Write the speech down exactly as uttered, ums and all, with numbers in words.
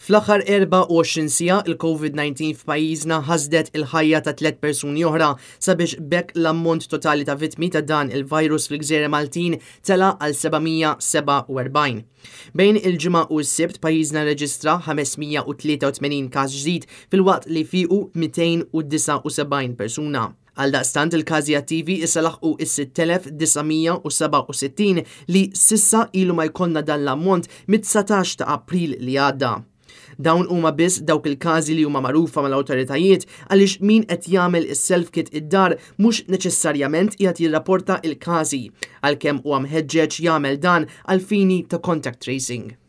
Fl-aħħar erbgħa u għoxrin siegħa, il-COVID disa f'pajjiżna ħasdet il-ħajja ta' tliet persuni oħra, sabiex b'hekk l-ammont totali ta' vittmi ta' dan il-virus fil-Gżejjer Maltin tela għal seba' mija sebgħa u erbgħin. Bejn il-Ġimgħa u s-Sibt, pajjiżna reġistra ħames mija tlieta u tmenin każ ġdid, filwaqt li fiqu mitejn u disgħa u sebgħin persuna. Għaldaqstant, il-każi attivi issa laħqu is-sitt elef disa' mija u sebgħa u sittin, li s'issa ilu ma jkollna dan l-ammont mit-dsatax ta' April li għadda. Dawn huma biss dawk il-każi li huma magħrufa mal-awtoritajiet, għaliex min qed jagħmel is-self-kit id-dar mhux neċessarjament qiegħed jirrapporta il-każi, għalkemm huwa mħeġġeġ jagħmel dan għal fini ta' contact tracing.